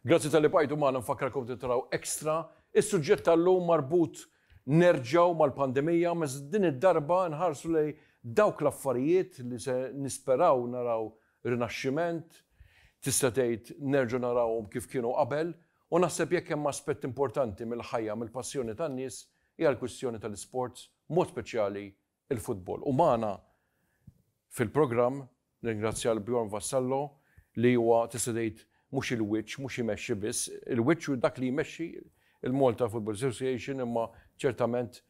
Grazzi talli bqajtu magħna nfakkarkom taraw Extra. Is-suġġett tal-lum marbut nerġgħu mal-pandemija, ma din id-darba nħarsu lejn dawk l-affarijiet li se nisperaw naraw rinaxximent, tista' tgħid nerġgħu narawhom kif kienu qabel, u naħseb jekk hemm aspett importanti mill-ħajja, mill-passjoni tan-nies, hija l-kwistjoni tal-isports, mod speċjali il-futbol. U magħna fil-programm nirringrazzja lil Bjorn Vassallo li huwa tista' tgħid mhux il-wiċċ, mhux imexxi biss, il-wiċċ u dak li jmexxi il-Malta Football Association imma ċertament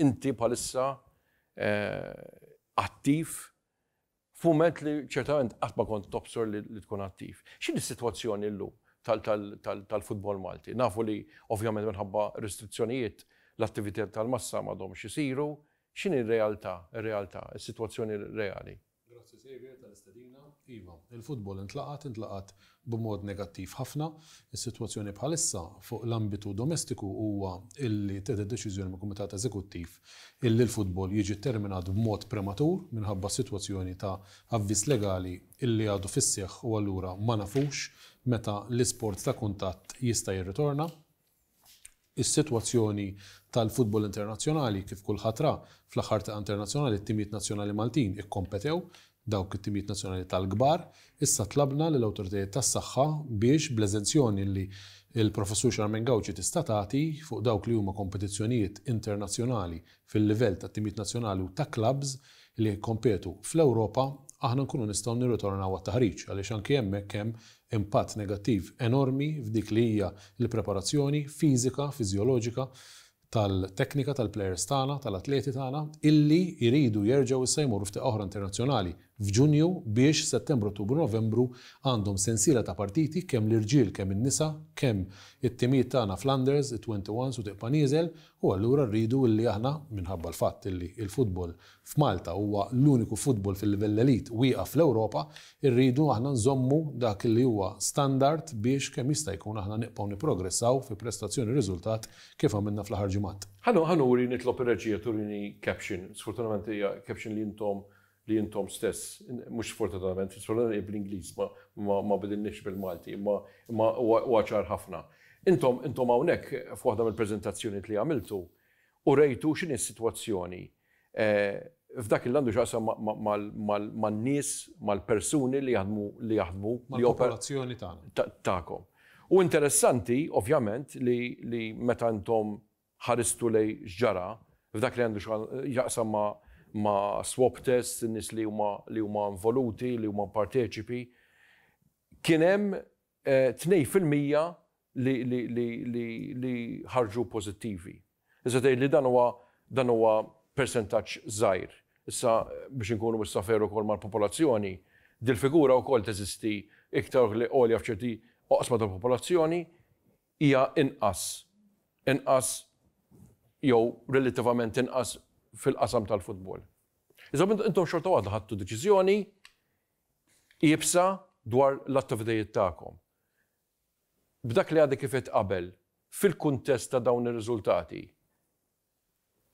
inti bħalissa attiv f'mument li ċertament qatt ma kont tobsor li tkun attiv. X'inhi s-sitwazzjoni llum tal-futbol Malti? Nafu li ovvjament minħabba restrizzjonijiet l-attività tal-massa m'għadhomx isiru. X'inhi r-realtà, ir-realtà, is-sitwazzjoni reali? Grazzi Saviour tal-istedina. Iva, il-futbol intlaqat, intlaqat b'mod negattiv ħafna. Is-sitwazzjoni bħalissa fuq l-ambitu domestiku huwa illi ttieħdet deċiżjoni mill-Kumitat Eżekuttiv illi l-futbol jiġi tterminat b'mod prematur minħabba s-sitwazzjoni ta' avviż legali illi għadu fis-seħħ u allura ma nafux meta l-isport ta' kuntatt jista' jirritorna. Is-sitwazzjoni tal-futbol internazzjonali, kif kulħadd ra, fl-aħħar tieqa internazzjonali t-timijiet nazzjonali Maltin ikkompetew, dawk it-timijiet nazzjonali tal-kbar. Issa tlabna lill-awtoritajiet tas-saħħa biex bl-eżenzjoni li l-Professur Charmaine Gauci tista' tagħti fuq dawk li huma kompetizzjonijiet internazzjonali fil-livell ta' timijiet nazzjonali u ta' klabbs li jikkompetu fl-Ewropa, aħna nkunu nistgħu nirritornaw għat-taħriġ għaliex anki hemmhekk hemm impatt negattiv enormi f'dik li hija l-preparazzjoni fiżika, fiżjoloġika tal-teknika tal-plejers tagħna, tal-atleti tagħna, illi jridu jerġgħu issa jmorru f'tieqa oħra internazzjonali f'Ġunju biex Settembru, Ottubru, Novembru għandhom sensiela ta' partiti kemm l-irġiel kemm in-nisa, kemm it-timijiet tagħna fl-unders, it-21s u tibqa' nieżel u allura rridu illi aħna, minħabba l-fatt illi l-futbol f'Malta huwa l-uniku futbol fil-livell elite wieqaf fl-Ewropa, irridu aħna nżommu dak illi huwa standard biex kemm jista' jkun aħna nibqgħu nipprogressaw fi prestazzjoni u riżultat kif għamilna fl-aħħar ġimgħat. Ħa nuri nitlob ir-reġija turini caption, sfortunatament hija caption li intom li intom stess, mhux sfortunatament, sfortunatament hija bl-Ingliż ma ma bidilniex bil-Malti, imma imma huwa ċar ħafna. Intom intom hawnhekk f'waħda mill-preżentazzjonijiet li għamiltu urejtu x'inhi s-sitwazzjoni f'dak li għandu x'jaqsam man-nies, mal-persuni li jaħdmu li jaħdmu Mal-popolazzjoni tagħna. Tagħkom. U interessanti, ovvjament, li li meta intom ħaristu lejn x'ġara f'dak li għandu x'jaqsam ma' ma' swab tests, in-nies li huma li huma involuti, li huma parteċipi, kien hemm 2% li li li li li ħarġu pożittivi. Issa tgħid li dan huwa dan huwa persentaġġ żgħir. Issa biex inkunu issa fair ukoll mal-popolazzjoni, dil-figura wkoll teżisti iktar għolja f'ċerti oqsma tal-popolazzjoni, hija inqas inqas jew relattivament inqas fil-qasam tal-futbol. Iżda intom xorta waħda ħadtu deċiżjoni iebsa dwar l-attivitajiet tagħkom. B'dak li għadek kif għedt qabel, fil-kuntest ta' dawn ir-riżultati,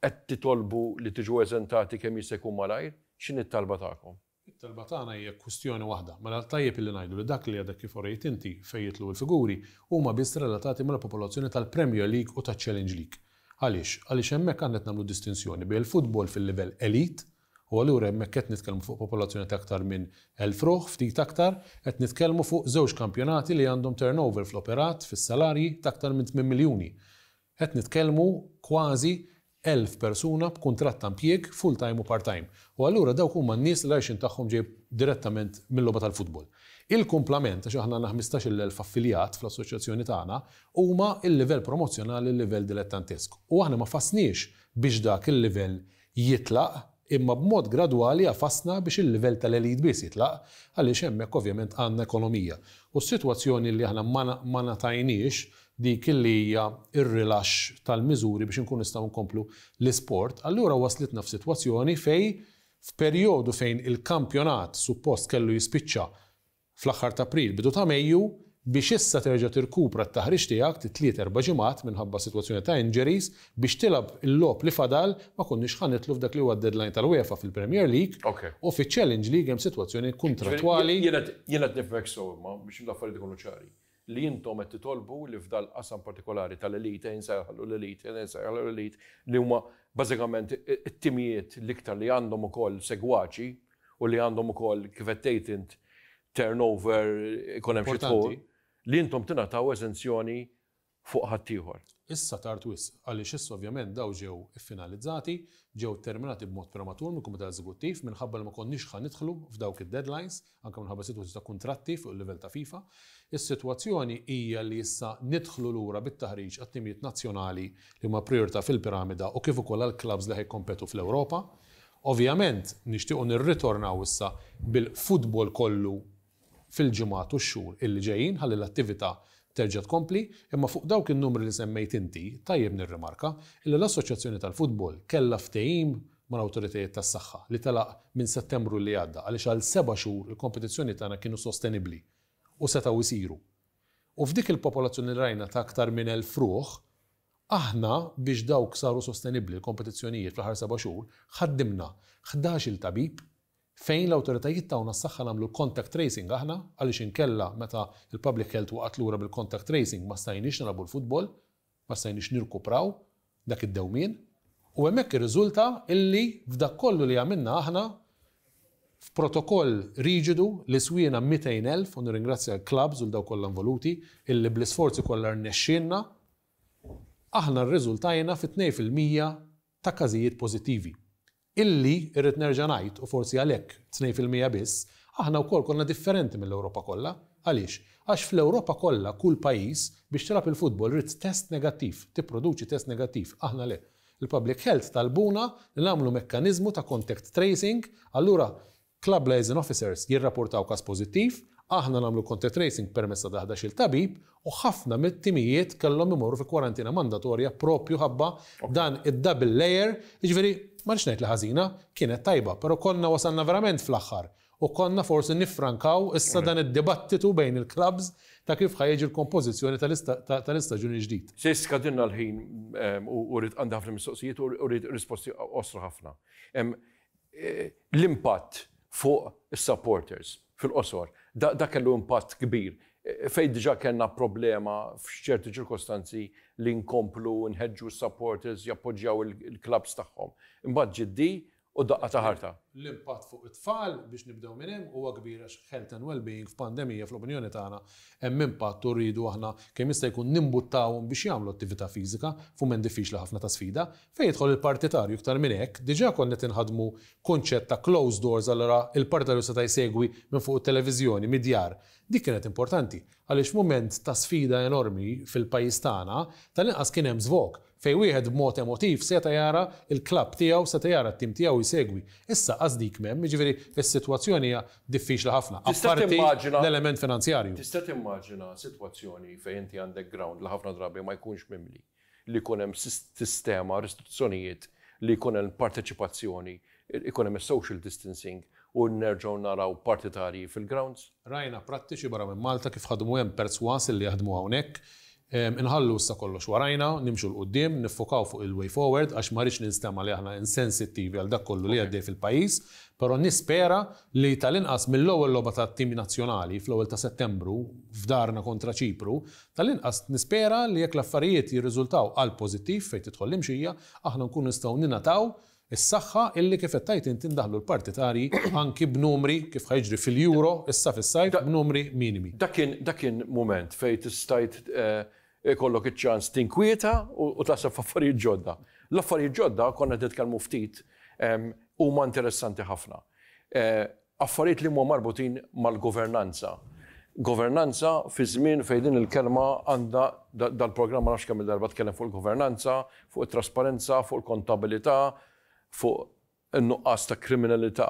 qed titolbu li tiġu eżentati kemm jista' jkun malajr? X'inhi t-talba tagħkom? It-talba tagħna hija kwistjoni waħda. Mela tajjeb illi ngħidu li dak li għadek kif urejt inti fejn jidħlu l-figuri huma biss relatati mal-popolazzjoni tal-Premier League u taċ-Challenge League. Għaliex? Għaliex hemmhekk aħna qed nagħmlu distinzjoni bejn il-futbol fil-livell elite, u allura hemmhekk qed nitkellmu fuq popolazzjoni ta' aktar minn 1,000 ruħ, ftit aktar, qed nitkellmu fuq żewġ kampjonati li għandhom turnover fl-operat, fis-salarji, ta' aktar minn tmien miljuni. Qed nitkellmu kważi 1,000 persuna b'kuntratt ta' impjieg full-time u part-time. U allura dawk huma n-nies li l-għajxien tagħhom ġej direttament mil-logħba tal-futbol. Il-kumplament, għax aħna għandna 15,000 affiljat fl-assoċjazzjoni tagħna, huma l-livell promozzjonali, l-livell dilettantesk. U aħna ma fassniex biex dak il-livell jitlaq, imma b'mod gradwali għafasna biex il-livell tal-elite biss jitlaq, għaliex hemmhekk ovvjament għandna ekonomija. U s-sitwazzjoni li aħna ma ma ngħatajniex dik li hija r-rilaxx tal-miżuri biex inkunu nistgħu nkomplu l-isport, allura waslitna f'sitwazzjoni fejn f'perjodu fejn il-kampjonat suppost kellu jispiċċa fl-aħħar t'April, bidu ta' Mejju, biex issa terġa' tirkupra t-taħriġ tiegħek ti tliet erba' ġimgħat minħabba sitwazzjoni ta' injuries biex tilgħab il-logħob li fadal ma konniex ħa nidħlu f'dak li huwa d-deadline tal-UEFA fil-Premier League u fiċ-Challenge League hemm sitwazzjoni kuntrattwali. Jien qed nifhmek sew imma biex l-affarijiet ikunu ċari. li intom qed titolbu li f'dal-qasam partikolari tal-elite, ejja nsejħlu l-elite, ejja nsejħlu l-elite, li huma bażikament it-timijiet l-iktar li għandhom ukoll segwaċi u li għandhom ukoll, kif qed tgħid int, turnover, ikun hemm xi dħul, li intom tingħataw eżenzjoni fuq ħaddieħor. Issa tard wisq, għaliex issa ovvjament dawn ġew iffinalizzati, ġew terminati b'mod prematur mill-Kumitat Eżekuttiv minħabba li ma konniex ħa nidħlu f'dawk id-deadlines, anke minħabba sitwazzjoni ta' kuntratti fuq il-livell ta' FIFA. Is-sitwazzjoni hija li issa nidħlu lura bit-taħriġ għat-timijiet nazzjonali li huma prijorità fil-piramida u kif ukoll għall-klabbs li ħa jikkompetu fl-Ewropa. Ovvjament nixtiequ nirritornaw issa bil-futbol kollu fil-ġimgħat u x-xhur illi ġejjin ħalli l-attività terġa' tkompli, imma fuq dawk in-numri li semmejt inti, tajjeb nirrimarka illi l-Assoċjazzjoni tal-Futbol kellha ftehim mal-awtoritajiet tas-saħħa li telaq minn Settembru li għadda għaliex għal seba' xhur il-kompetizzjonijiet tagħna kienu sostenibbli u setgħu jsiru. U f'dik il-popolazzjoni li rajna ta' aktar minn 1,000 ruħ, aħna biex dawk saru sostenibbli l-kompetizzjonijiet fl-aħħar seba' xhur, ħaddimna ħdax-il tabib Fejn l-awtoritajiet tawna s-saħħa nagħmlu l-contact tracing aħna, għaliex inkella meta l-public health waqgħet lura bil-contact tracing ma stajniex nilagħbu l-futbol, ma stajniex nirkupraw dak id-dewmien. U hemmhekk irriżulta illi f'dak kollu li għamilna aħna, f'protokoll riġidu li swiena 200,000, u nirringrazzja l-clubs u 'l dawk kollha involuti, illi bl-isforzi kollha rnexxielna, aħna rriżultajna fi 2% ta' każijiet pożittivi. Illi, irrid nerġa' ngħid, u forsi għalhekk 2% biss, aħna wkoll konna differenti mill-Ewropa kollha. Għaliex? Għax fl-Ewropa kollha kull pajjiż biex tilgħab il-futbol ried test negattiv, tipproduċi test negattiv, aħna le. Il-Public Health talbuna li nagħmlu mekkaniżmu ta' contact tracing, allura Club Liaison Officers jirrapportaw każ pożittiv, aħna nagħmlu contact tracing permezz ta' ħdax-il tabib u ħafna mit-timijiet kellhom imorru fi kwarantina mandatorja propju ħabba dan id-double layer, jiġifieri ma rridx ngħid li ħażina, kienet tajba, però konna wasalna verament fl-aħħar u konna forsi niffrankaw issa dan id-dibattitu bejn il-clubs ta' kif ħa jiġi l-kompożizzjoni tal-istaġun il-ġdid. Se jiskadilna l-ħin u rrid għandi ħafna mistoqsijiet u rrid risposti qosra ħafna. L-impatt fuq is-supporters, fil-qosor, da kellu impatt kbir. Fejn diġà kellna problema f'ċerti ċirkostanzi li nkomplu nħeġġu s-supporters jappoġġjaw il-clubs tagħhom. Imbagħad ġiet di u daqqa ta' ħarta. L-impatt fuq it-tfal, biex nibdew minn hemm, huwa kbir għax health and well-being f'pandemija fl-opinjoni tagħna hemm impatt u rridu aħna kemm jista' jkun nimbuttawhom biex jagħmlu attività fiżika f'mument diffiċli ħafna ta' sfida. Fejn jidħol il-partitarju iktar minn hekk, diġà konna qed inħaddmu kunċett ta' closed doors allura il-partitarju seta' jsegwi minn fuq it-televiżjoni, mid-djar. Dik kienet importanti, għaliex f'mument ta' sfida enormi fil-pajjiż tagħna, tal-inqas kien hemm żvog, fejn wieħed b'mod emotiv seta' jara l-klabb tiegħu, seta' jara t-tim tiegħu jsegwi. Issa qas dik m'hemm, jiġifieri s-sitwazzjoni hija diffiċli ħafna, apparti l-element finanzjarju. Tista' timmaġina sitwazzjoni fejn inti għandek ground li ħafna drabi ma jkunx mimli, li jkun hemm sistema, restrizzjonijiet, li jkun hemm parteċipazzjoni, ikun hemm is-social distancing u nerġgħu naraw partitarji fil-grounds? Rajna prattiċi barra minn Malta kif ħadmu hemm perswas li jaħdmu hawnhekk. Inħallu issa kollox warajna, nimxu 'l quddiem, niffokaw fuq il-way forward għax ma rridx ninstema' li aħna insensittivi għal dak kollu li għaddej fil-pajjiż, però nispera li tal-inqas mill-ewwel logħba tat-tim nazzjonali fl-ewwel ta' Settembru f'darna kontra Ċipru, Tal-inqas nispera li jekk l-affarijiet jirriżultaw għall-pożittiv fejn tidħol l-imxija, aħna nkunu nistgħu ningħataw is-saħħa illi kif qed tgħid inti ndaħħlu l-partitarji anki b'numri kif ħa jiġri fil-Euro issa fis-sajf b'numri minimi. Dak kien dak kien mument fejn stajt ikollok iċ-ċans tinkwieta u taħseb f'affarijiet ġodda. L-affarijiet ġodda, konna qed nitkellmu ftit, huma interessanti ħafna. Affarijiet li huma marbutin mal-governanza. Governanza fi żmien fejn din il-kelma għandha dal-programm ma nafx kemm-il darba tkellem fuq il-governanza, fuq it-trasparenza, fuq il-kontabilità, fuq in-nuqqas ta' kriminalità.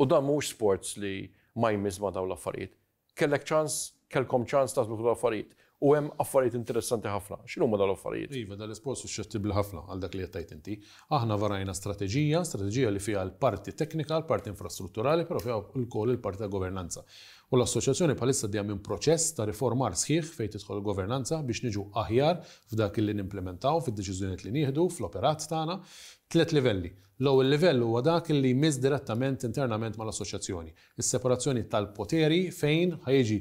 U dan mhuwiex sports li ma jmiss ma' dawn l-affarijiet. Kellek ċans, kellkom ċans taħsbu fuq l-affarijiet. U hemm affarijiet interessanti ħafna. X'inhuma dawn l-affarijiet? Iva, dan l-isport suxxettibbli ħafna għal dak li qed tgħid inti. Aħna varajna strateġija, strateġija li fiha l-parti teknika, l-parti infrastrutturali, però fiha wkoll il-parti ta' governanza. U l-Assoċjazzjoni bħalissa għaddejja minn proċess ta' riformar sħiħ fejn tidħol il-governanza biex niġu aħjar f'dak li nimplementaw, fid-deċiżjonijiet li nieħdu, fl-operat tagħna. Tliet livelli. L-ewwel livell huwa dak li jmiss direttament internament mal-Assoċjazzjoni. Is-separazzjoni tal-poteri fejn ħa jiġi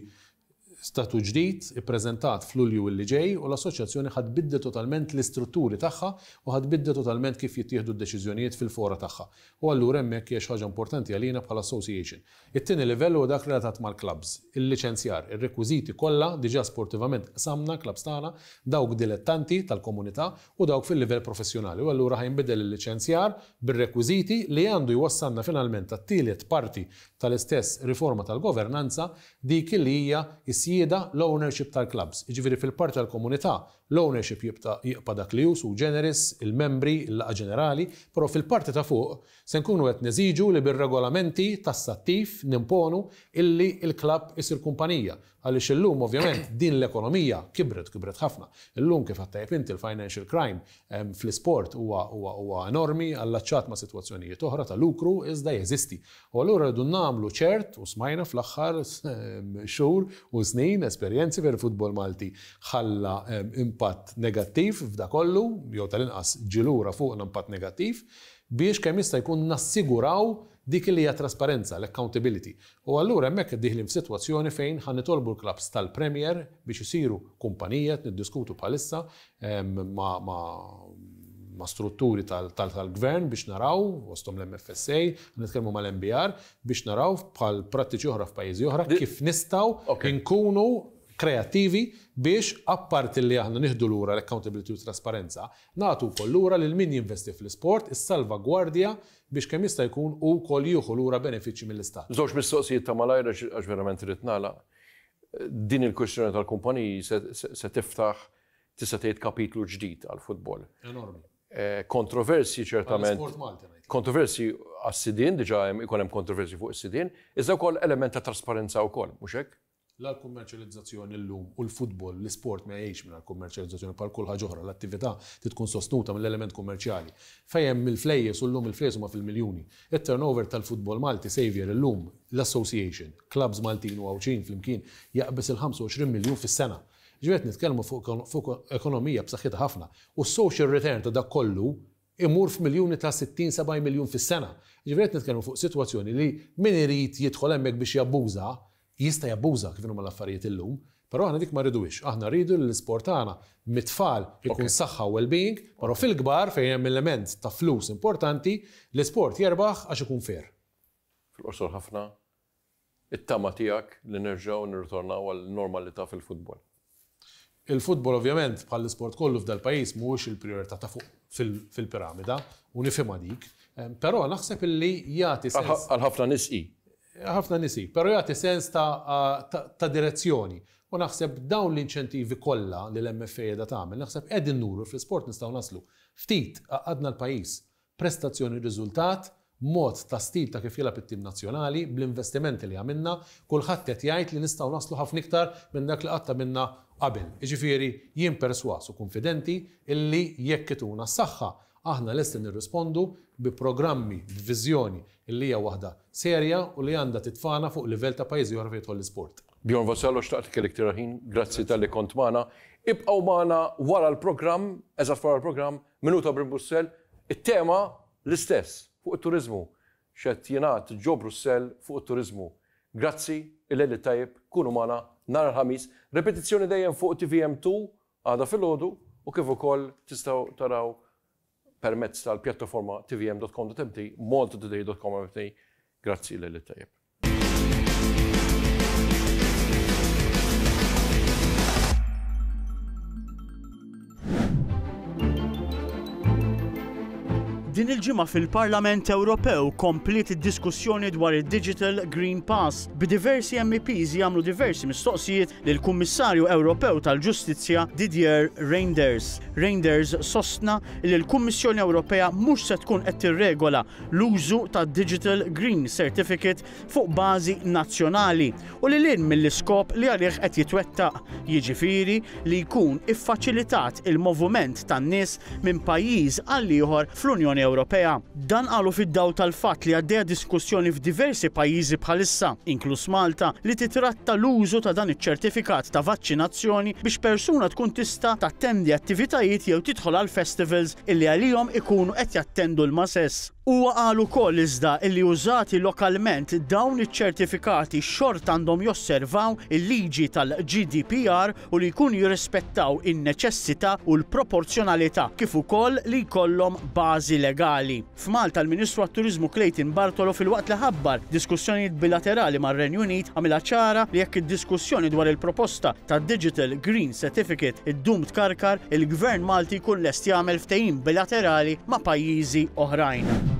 Statut ġdid ippreżentat f'Lulju illi ġej u l-Assoċjazzjoni ħa tbiddel totalment l-istrutturi tagħha u ħa tbiddel totalment kif jittieħdu d-deċiżjonijiet fil-fora tagħha. U allura hemmhekk hija xi ħaġa importanti għalina bħala association. It-tieni livell huwa dak relatat mal-klabbs, il-liċenzjar, ir-rekwiżiti kollha, diġà sportivament qsamna l-klabbs tagħna, dawk dilettanti tal-komunità u dawk fil-livell professjonali u allura ħa jinbidel il-liċenzjar bir-rekwiżiti li għandu jwassalna finalment għat-tielet parti tal-istess riforma tal-governanza, dik li hija s-sjieda, l-ownership tal-klabbs. Jiġifieri fil-parti tal-komunità, l-ownership jibqa' jibqa' dak li hu sui generis, il-membri, il-laqgħa ġenerali, però fil-parti ta' fuq se nkunu qed neżiġu li bir-regolamenti tassattiv nimponu illi l-klabb isir kumpanija Għaliex illum ovvjament din l-ekonomija kibret, kibret ħafna. Illum kif għedt tajjeb inti l-financial crime fl-isport huwa huwa huwa enormi, allaċċat ma' sitwazzjonijiet oħra ta' lukru iżda jeżisti. U allura rridu nagħmlu ċert u smajna fl-aħħar xhur u snin esperjenzi fejn il-futbol Malti ħalla impatt negattiv f'da kollu, jew tal-inqas ġie lura fuqna impatt negattiv, biex kemm jista' jkun nassiguraw dik li hija trasparenza, l-accountability. U allura hemmhekk dieħlin f'sitwazzjoni fejn ħa nitolbu l-klabbs tal-Premier biex isiru kumpanija, qed niddiskutu bħalissa ma' ma' strutturi tal-Gvern biex naraw, fosthom l-MFSA, nitkellmu mal-MBR, biex naraw bħal prattiċi oħra f'pajjiżi oħra kif nistgħu nkunu kreattivi biex apparti li aħna nieħdu lura l-accountability u t-trasparenza, nagħtu wkoll lura lil min jinvesti fl-isport is-salvagwardja biex kemm jista' jkun hu wkoll jieħu lura benefiċċji mill-Istat. Żewġ mistoqsijiet ta' malajr għax verament irrid nagħlaq. Din il-kwistjoni tal-kumpaniji se tiftaħ tista' tgħid kapitlu ġdid għall-futbol. Enormi. Kontroversji ċertament. Għall-isport Malti ngħid. Kontroversji għas-sidien, diġà hemm ikun hemm kontroversji fuq is-sidien, iżda wkoll element ta' trasparenza wkoll, mhux hekk? La l-kummerċjalizzazzjoni llum u l-futbol, l-isport ma jgħix mingħajr kummerċjalizzazzjoni bħal kull ħaġa oħra, l-attività trid tkun sostnuta mill-element kummerċjali. Fejn hemm il-flejjes u llum il-flejjes huma fil-miljuni. It-turnover tal-futbol Malti, Saviour, illum, l-association, clubs Maltin u Għawdxin flimkien jaqbeż il-25 miljun fis-sena. Jiġifieri qed nitkellmu fuq ekonomija b'saħħitha ħafna. U s-social return ta' dak kollu imur f'miljuni ta' 60, 70 miljun fis-sena. Jiġifieri qed nitkellmu fuq sitwazzjoni li min irid jidħol hemmhekk biex jabbuża, jista' jabbuża kif inhuma l-affarijiet illum, però aħna dik ma rriduhiex. Aħna rridu li l-isport tagħna mit-tfal ikun saħħa u well-being, però fil-kbar fejn hemm element ta' flus importanti, l-isport jerbaħ għax ikun fair. Fil-qosor ħafna, it-tama tiegħek li nerġgħu nirritornaw għal normalità fil-futbol? Il-futbol ovvjament bħall-isport kollu f'dal-pajjiż mhuwiex il-prijorità ta' fuq fil-piramida u nifhimha dik, però naħseb illi jagħti sens. Għal ħafna nies hi. Ħafna nies hi, però jagħti sens ta' direzzjoni. U naħseb dawn l-inċentivi kollha li l-MFA qiegħda tagħmel, naħseb qegħdin nuru fl-isport nistgħu naslu. Ftit għaqqadna l-pajjiż Prestazzjoni riżultat, mod ta' stil ta' kif jilgħab it-tim nazzjonali, bl-investimenti li għamilna, kulħadd qed jgħid li nistgħu naslu ħafna iktar minn dak li qatt għamilna qabel. Jiġifieri jien persważ u kunfidenti illi jekk ituna s-saħħa, aħna lesti nirrispondu bi programmi, b'viżjoni illi hija waħda serja u li għandha titfagħna fuq livell ta' pajjiżi oħra fejn jidħol l-isport. Bjorn Vassallo xtaqt li kellek tira ħin, grazzi talli kont magħna. Ibqgħu magħna wara l-programm, eżatt wara l-programm, Minuta Brussell, it-tema l-istess, fuq it-turiżmu. X'qed jingħad ġo Brussell fuq it-turiżmu. Grazzi, il-lejl it-tajjeb, kunu magħna nhar il-Ħamis. Ripetizzjoni dejjem fuq TVM2 għada filgħodu u kif ukoll tistgħu taraw permezz tal-pjattaforma tvm.com.mt, maltatoday.com.mt. Grazzi, il-lejl it-tajjeb. Din il-ġimgħa fil-Parlament Ewropew kompliet id-diskussjoni dwar id-Digital Green Pass, b'diversi MEPs jagħmlu diversi mistoqsijiet lill-Kummissarju Ewropew tal-Ġustizzja Didier Reynders. Reynders sostna li l-Kummissjoni Ewropea mhux se tkun qed tirregola l-użu ta' Digital Green Certificate fuq bażi nazzjonali u lil hinn mill-iskop li għalih qed jitwettaq, jiġifieri li jkun iffaċilitat il-moviment tan-nies minn pajjiż għal ieħor fl-Unjoni Ewropea. Dan qalu fid-dawl tal-fatt li għaddejja diskussjoni f'diversi pajjiżi bħalissa, inkluż Malta, li titratta l-użu ta' dan iċ-ċertifikat ta' vaċċinazzjoni biex persuna tkun tista' tattendi attivitajiet jew tidħol għal festivals illi għalihom ikunu qed jattendu l-mases. Huwa qal ukoll iżda illi użati lokalment dawn iċ-ċertifikati xorta għandhom josservaw il-liġi tal-GDPR u li jkunu jirrispettaw in-neċessità u l-proporzjonalità kif ukoll li jkollhom bażi legali. F'Malta l-Ministru għat-Turiżmu Clayton Bartolo filwaqt li ħabbar diskussjonijiet bilaterali mar-Renju Unit għamilha ċara li jekk id-diskussjoni dwar il-proposta ta' Digital Green Certificate iddum tkarkar, il-Gvern Malti jkun lest jagħmel ftehim bilaterali ma' pajjiżi oħrajn.